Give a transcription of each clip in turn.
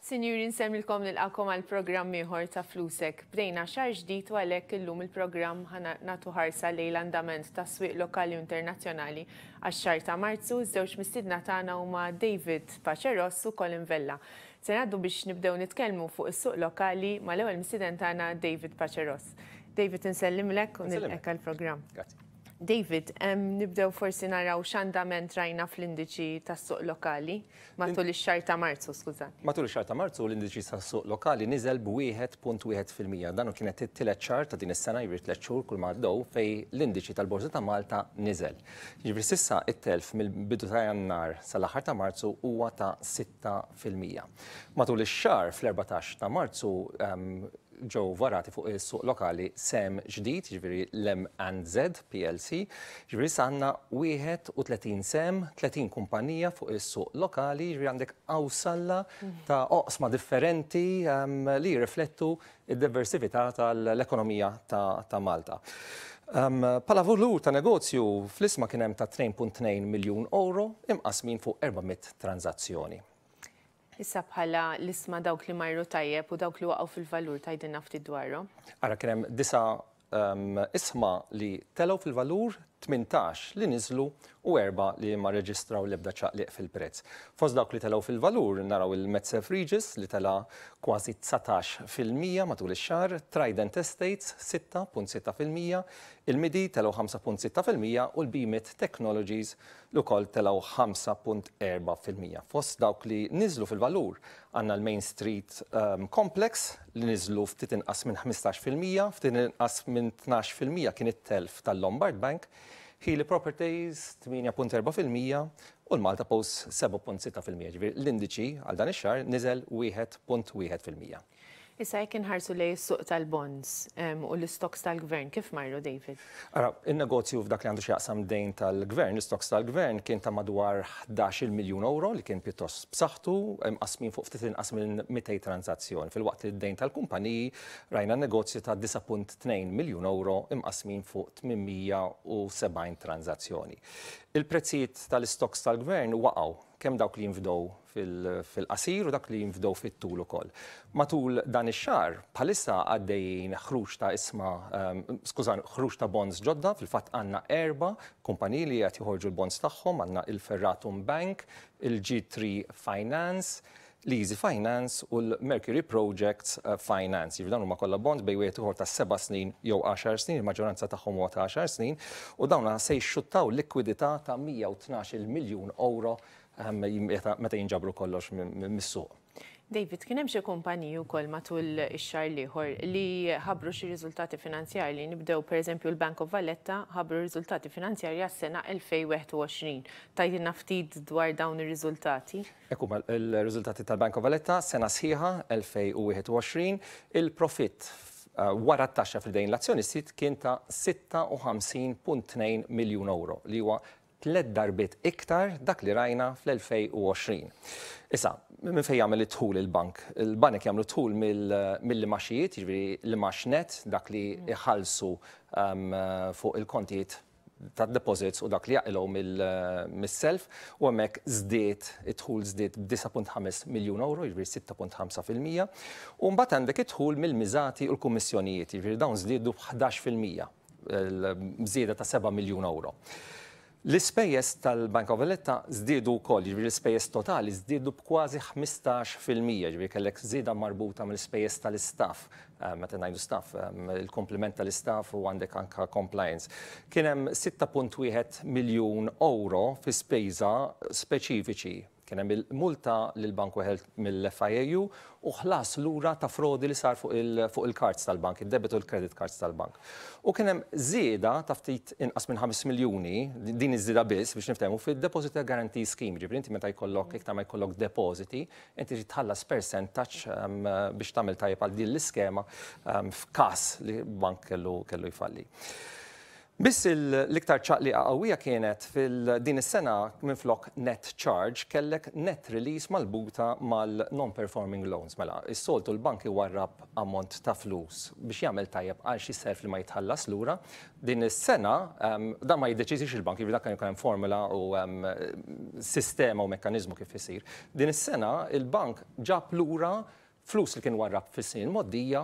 Sinjuri nsemmilkom nilqakom għal programm ieħor ta' Flusek. Bdejna xahar ġdid u għalhekk illum il-programm ħa nagħtu ħarsa lejn l-andament tas-swieq lokali u internazzjonali għax-xahar ta' Marzu. Iż-żewġ mistiedna tagħna huma David Pace Ross u Colin Vella. Se ngħaddu biex nibdew nitkellmu fuq is-suq lokali mal-ewwel mistieden tagħna David Pace Ross. David insellimlek u nilqek għall-programm. Grazzi. David, nibdew forsi naraw x'andament rajna fl-indiċi tas-suq lokali matul ix-xahar ta' Marzu, skużani. Matul ix-xahar ta' Marzu l-indiċi tas-suq lokali niżel b'1.1%. Dan kienet it-tielet xahar ta' din is-sena, jiġifieri 3 xhur kull ma għaddew fejn l-indiċi tal-Borża ta' Malta niżel. Jiġifieri s'issa it-telf mill-bidu ta' Jannar sal-aħħar ta' Marzu huwa ta' 6%. Matul ix-xahar fl-14 ta' Marzu ġew varati fuq is-suq lokali sehem ġdid, jiġifieri l-M&Z PLC, jiġifieri issa għandna 31 sehem, 30 kumpanija fuq is-suq lokali, jiġifieri għandek qawsalla ta' oqsma differenti li jirriflettu d-diversità tal-ekonomija ta' Malta. Bħala valur ta' negozju fl-isma kien hemm ta' 2.2 miljun euro imqasmin fuq 400 tranzazzjoni. Issa bħala l-isma dawk li marru tajjeb u dawk li waqgħu fil-valur tgħidilna ftit dwarhom. Ara kien hemm disa' isma li telgħu fil-valur, 18 li niżlu u 4 li ma reġistraw l-ebda ċaqliq fil-prezz. Fost dawk li telgħu fil-valur naraw il-Medserv Regis li tela' kważi 19% matul ix-xahar, Trident Estates 6.6%, il-Midi telgħu 5.6% u l-BMIT Technologies li wkoll telgħu 5.4%. Fost dawk li niżlu fil-valur għandna l-Main Street Complex li niżlu ftit inqas minn 15%, ftit inqas minn 12% kien it-telf tal-Lombard Bank, Healy Properties 8.4% u l-Malta Post 7.6%. Ġifieri l-indiċi għal dan ix-xahar niżel 1.1%. Issa jekk inħarsu lejn is-suq tal-bonds u l-stocks tal-gvern, kif marru, David? Ara, il-negozju f'dak li għandu x'jaqsam dejn tal-gvern, l-stocks tal-gvern kien ta' madwar 11 miljun euro li kien pjuttost b'saħħtu, imqasmin fuq ftit inqas minn 200 tranzazzjoni. Filwaqt li d-dejn tal-kumpaniji rajna negozju ta' 9.2 miljun euro imqasmin fuq 870 tranzazzjoni. Il-prezzijiet tal-stocks tal-gvern waqgħu kemm dawk li jinfdow fil-qasir u dak li jinfdow fit-tul ukoll. Matul dan ix-xahar bħalissa għaddejjin ħruġ ta' isma, skużani, ħruġ ta' bonds ġodda, fil-fatt għandna erba' kumpaniji li qed joħorġu l-bonds tagħhom, għandna il-Ferratum Bank, il-G3 Finance, l-Easy Finance u l-Mercury Projects Finance. Jiġifieri dawn huma kollha bonds bejn wieħed ieħor ta' 7 snin jew 10 snin, il-maġġoranza tagħhom huwa ta' 10 snin, u dawn se jxuttaw likwidità ta' 112 miljun euro meta jinġabru kollox mis-suq. David, kien hemm xi kumpaniji wkoll matul ix-xahar l-ieħor li ħabbru xi riżultati finanzjarji. Nibdew pereżempju l-Bank of Valletta ħabbru riżultati finanzjarji għas-sena 2021. Tgħidilna ftit dwar dawn ir-riżultati? Ekku il-riżultati tal-Bank of Valletta, sena sħiħa 2021, il-profitt wara t-taxxa f'idejn l-azzjonisti kien ta' 56.2 miljun euro li huwa tliet darbiet iktar dak li rajna fl-2020. Issa, minn fejn jagħmel id-dħul il-bank? Il-banek jagħmlu dħul mill-imgħaxijiet, jiġifieri l-imgħax net, dak li iħallsu fuq il-kontijiet ta' deposits u dak li jaqilgħu mis-self u hemmhekk żdied id-dħul żdied b'9.5 miljun euro, jiġifieri 6.5%. U mbagħad għandek id-dħul mill-miżati u l-kummissjonijiet, jiġifieri dawn żdiedu b'11%, żieda ta' 7 miljun euro. L-ispejjeż tal-Bank of Valletta żdiedu wkoll, jiġifieri l-ispejjeż totali żdiedu b'kważi 15%, jiġifieri kellek żieda marbuta mill-ispejjeż tal-istaff, meta ngħidu staff, il-komplement tal-istaff u għandek anka compliance. Kien hemm 6.1 miljun euro fi spejza speċifiċi. Kien hemm il-multa lil bank weħel mill-FIAU u ħlas lura ta' frodi li sar fuq il-cards tal-bank, il-debit u l-credit cards tal-bank. U kien hemm żieda ta' ftit inqas minn 5 miljuni, din iż-żieda biss biex niftehmu fil-Deposit Guarantee Scheme, ġifieri inti meta jkollok iktar ma jkollok depositi, inti trid tħallas percentaġġ biex tagħmel tajjeb għal din l-iskema f'każ li bank kellu jfalli. Biss l-iktar ċaqliqa qawwija kienet fil-din is-sena, minflok net charge kellek net release marbuta mal-non-performing loans. Mela, is-soltu l-bank iwarrab ammont ta' flus biex jagħmel tajjeb għal xi self li ma jitħallas lura. Din is-sena dan ma jiddeċidix il-bank, jiġifieri dak kien hemm formula u sistema u mekkaniżmu kif isir. Din is-sena il-bank ġab lura flus li kien warrab fis-snin mgħoddija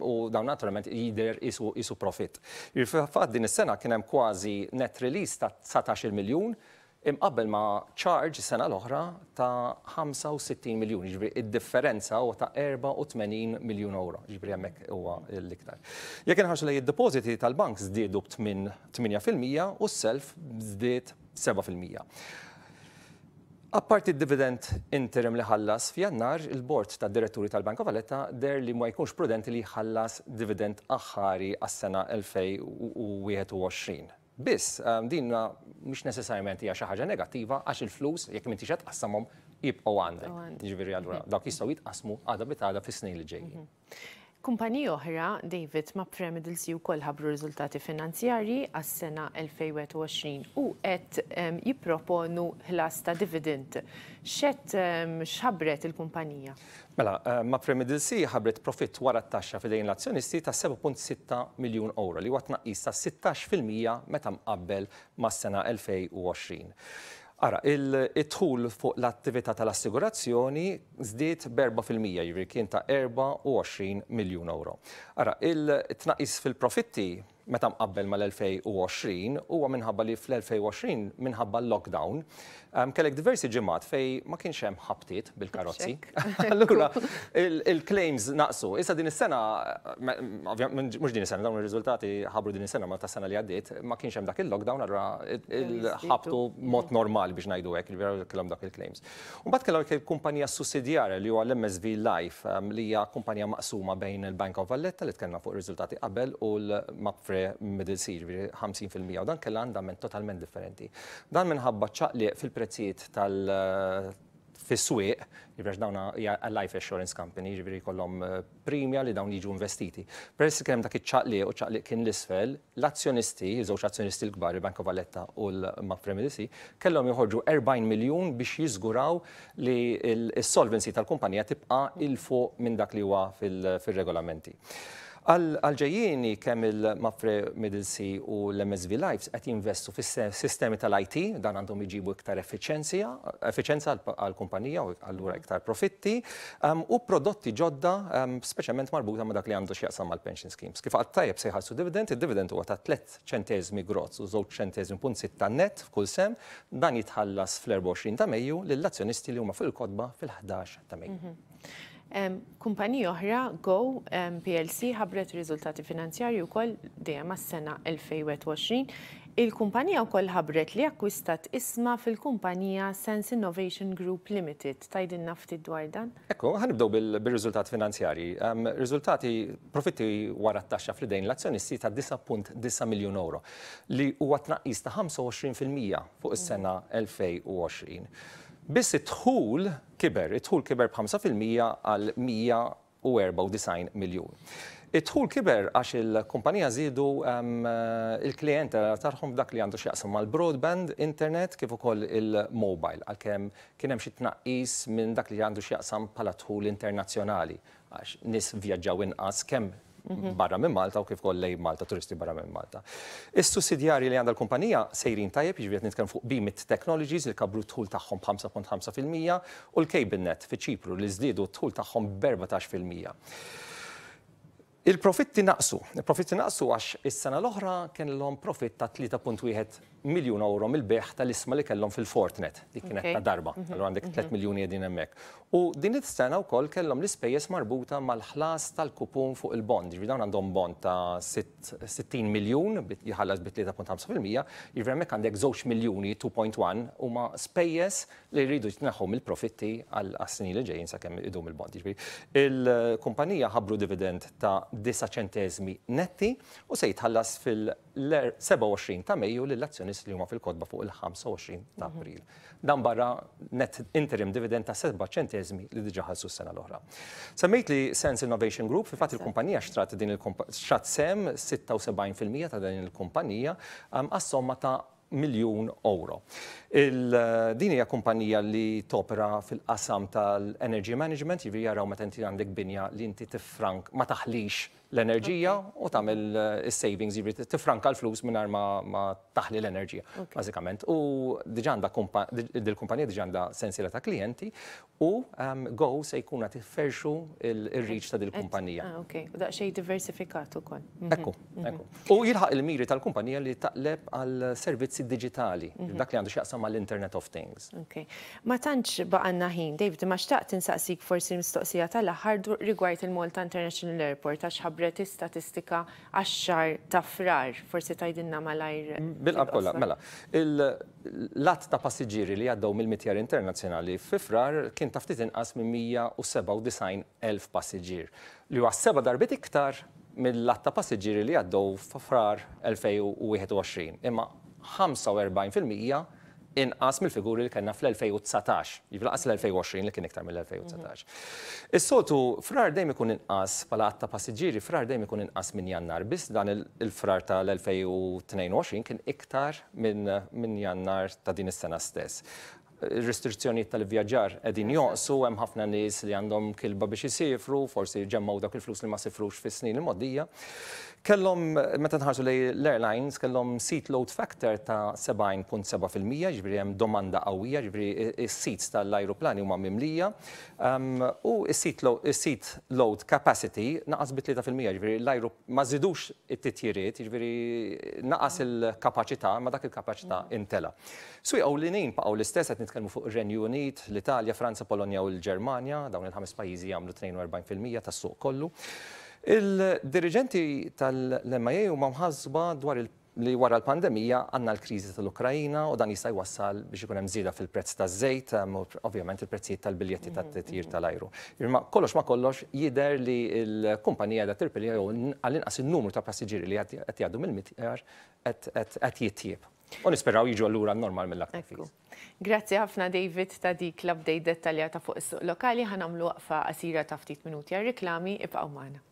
u dawn naturalment jidher qisu profitt. Fil-fatt din is-sena kien hemm kważi net release ta' 19 miljun imqabbel ma' charge is-sena l-oħra ta' 65 miljun, jiġifieri id-differenza huwa ta' 84 miljun euro, jiġifieri hemmhekk huwa l-iktar. Jekk inħarsu lejn id-depositi tal-bank, żdiedu b'8% u s-self żdied 7%. Apparti d-dividend interim li ħallas f'Jannar, il-bord tad diretturi tal-Bank of Valletta deher li ma jkunx prudenti li jħallas dividend aħħari għas-sena 2021. Biss, din mhix neċessarjament hija xi ħaġa negattiva, għax il-flus, jekk m'intix qed tqassamhom, jibqgħu għandek. Jiġifieri allura dawk jistgħu jitqasmu għada pitgħada fis-snin li ġejjin. Kumpaniji oħra, David, Mapfre Middle Sea wkoll ħabbru riżultati finanzjarji għas-sena 2021 u qed jipproponu ħlas ta' dividend. X'qed x'ħabbret il-kumpanija? Mela, Mapfre Middle Sea ħabbret profitt wara t-taxxa f'idejn l-azzjonisti ta' 7.6 miljun euro, li huwa tnaqqis ta' 16% meta mqabbel mas-sena 2020. Ara, id-dħul fuq l-attività tal-assigurazzjoni żdied b'4%, jiġifieri kien ta' 24 miljun euro. Ara, il-tnaqqis fil-profitti meta mqabbel mal-2020 huwa minħabba li fl-2020, minħabba l-lockdown, kellek diversi ġimgħat fejn ma kienx hemm ħabtiet bil-karozzi. Allura il-claims naqsu. Issa din is-sena, mhux din is-sena, dawn ir-riżultati ħabru din is-sena, ma tas-sena li għaddiet, ma kienx hemm dak il-lockdown, allura il-ħabtu mod normali biex ngħidu hekk, li kellhom dak il-claims. U mbagħad kellhom il-kumpanija sussidjarja li huwa l-MSV Life, li hija kumpanija maqsuma bejn il-Bank of Valletta li tkellimna fuq ir-riżultati qabel u l-Mapfre Middle Sea, jiġifieri 50%, u dan kellha andament totalment differenti. Dan minħabba ċaqliq fil-prezzijiet tal fis-swieq, jiġifieri dawn hija life assurance company, jiġifieri jkollhom premia li dawn jiġu investiti. Peress li kien hemm dak iċ-ċaqliq u ċaqliq kien l-isfel, l-azzjonisti, żewġ azzjonisti l-kbar, il-Bank of Valletta u l-Mapfre Middle Sea, kellhom joħorġu 40 miljun biex jiżguraw li s-solvency tal-kumpanija tibqa' 'il fuq minn dak li huwa fil-regolamenti. Għal-ġejjieni, kemm il-Mapfre Middle Sea u l-MSV Lives qed jinvestu fis-sistemi tal-IT, dan għandhom iġibu iktar effiċenza għall-kumpanija u allura iktar profitti, u prodotti ġodda, speċjalment marbuta ma' dak li għandu x'jaqsam mal-pension schemes. Kif għedt tajjeb, se jħallsu dividend, id-dividend huwa ta' 3 ċentesmi gross u 2 ċentesmi punt 6 net f'kull sehem, dan jitħallas fl-24 ta' Mejju lill-azzjonisti li huma fuq il-kotba fil-11 ta' Mejju. Kumpanija oħra, Go PLC, ħabbret riżultati finanzjarji wkoll dejjem għas-sena 2021. Il-kumpanija wkoll ħabbret li akkwistat ishma fil-kumpanija Sense Innovation Group Limited. Tgħidilna ftit dwar dan? Ekku, ħa nibdew bil-riżultati finanzjarji. Riżultati, profitti wara t-taxxa fl-idejn l-azzjonisti ta' 9.9 miljun euro, li huwa tnaqqis ta' 25% fuq is-sena 2020. Biss id-dħul kiber, id-dħul kiber b'5% għal 194 miljun. Id-dħul kiber għax il-kumpanija żiedu il-klijentela tagħhom dak li għandu x'jaqsam mal-broadband, internet, kif ukoll il-mobile, għalkemm kien hemm xi tnaqqis minn dak li għandu x'jaqsam bħala dħul internazzjonali, għax nies vjaġġaw inqas kemm barra minn Malta u kif ukoll lejn Malta, turisti barra minn Malta. Is-sussidjarji li għandha l-kumpanija sejrin tajjeb, jiġifieri qed nitkellem fuq Beamit Technologies li kabru d-dħul tagħhom b'5.5% u l-CableNet fi Ċipru li żdiedu d-dħul tagħhom b'14%. Il-profitti naqsu. Il-profitti naqsu għax is-sena l-oħra kellhom profitt ta' 3.1 miljun euro mill-bejgħ tal-ishma li kellhom fil-Forthnet. Dik kienet ta' darba. Allura għandek 3 miljuni qegħdin hemmhekk. U din is-sena wkoll kellhom l-ispejjeż marbuta mal-ħlas tal-kupun fuq il-bond. Jiġifieri dawn għandhom bond ta' 60 miljun jħallas bi 3.5%, jiġifieri hemmhekk għandek 2 miljuni, 2.1 huma spejjeż li jridu jitneħħu mill-profitti għal snin li ġejjin sakemm idum il-bond. Jiġifieri il-kumpanija ħabbru dividend ta' 9 ċenteżmi netti u se jitħallas fil-27 ta' Mejju lill-azzjonisti li huma fil-kotba fuq il-25 ta' April. Dan barra net interim dividend ta' 7 ċenteżmi li diġà ħallsu s-sena l-oħra. Semmejt li Sense Innovation Group, fil-fatt il-kumpanija xtrat din xtrat sehem 76% ta' din il-kumpanija għas-somma ta' miljun euro. Din hija kumpanija li topera fil-qasam tal-energy management, jiġifieri jaraw meta inti għandek binja li inti tifrank ma taħlix l-enerġija u tagħmel is-savings, jiġifieri tifranka l-flus mingħajr ma taħli l-enerġija, bażikament. U diġà għandha dil-kumpanija diġà għandha sensiela ta' klijenti u Go se jkun qed iferxu il-reach ta' dil-kumpanija. Ah, ok, u daqsxejn diversifikat ukoll. Ekku, ekku. U jilħaq il-miri tal-kumpanija li taqleb għal servizzi diġitali, dak li għandu x'jaqsam mal-Internet of Things. Ok. Ma tantx baqgħalna ħin, David, imma xtaqt insaqsik forsi mistoqsija tal-aħħar rigward il-Malta International Airport għax ħabbret statistika għax-xahar ta' Frar. Forsi tgħidilna malajr. Bil-qalb kollha, mela. L-għadd ta' passiġġieri li għaddew mill-mitjar internazzjonali fi Frar kien ta' ftit inqas minn 197,000 passiġġier, li huwa seba' darbiet iktar mill-għadd ta' passiġġieri li għaddew f'Frar 2021, imma 45% inqas mill-figuri li kellna fl-2019, jiġifieri lanqas l-2020 li kien iktar mill-2019. Is-soltu Frar dejjem ikun inqas bħala għadd ta' passiġġieri, Frar dejjem ikun inqas minn Jannar, biss dan il-Frar tal-2022 kien iktar minn Jannar ta' din is-sena stess. Ir-restrizzjonijiet tal-ivvjaġġar qegħdin jonqsu, hemm ħafna nies li għandhom kilba biex isifru, forsi ġemmgħu dawk il-flus li ma sifrux fis-snin il-mgħoddija. Kellhom, meta nħarsu lejn l-airlines, kellhom seat load factor ta' 70.7%, jiġifieri hemm domanda qawwija, jiġifieri s-seats tal-ajruplani huma mimlija. U s-seat load capacity naqas bi 3%, jiġifieri l-ajru ma żidux it-titjiriet, jiġifieri naqas il-kapaċità, ma dak il-kapaċità intela. Swieq ewlenin baqgħu l-istess, qed nitkellmu fuq ir-Renju Unit, l-Italja, Franza, Polonja u l-Ġermanja, dawn il-ħames pajjiżi jagħmlu 42% tas-suq kollu. Il-diriġenti tal-MIA huma mħassba dwar li wara l-pandemija għandna l-kriżi tal-Ukrajina u dan jista' jwassal biex ikun hemm żieda fil-prezz taż-żejt u ovvjament il-prezzijiet tal-biljetti tat-titjir tal-ajru. Imma kollox ma kollox jidher li l-kumpanija qiegħda tirpilja jew għall-inqas in-numru ta' passiġġieri li qed jgħaddu mill-mitjar qed jitjieb. U nisperaw jiġu allura normal mill-aktar fis. Grazzi ħafna, David, ta' dik l-update dettaljata fuq is-suq lokali. Ħa nagħmlu waqfa qasira ta' ftit minuti għar-riklami, ibqgħu magħna.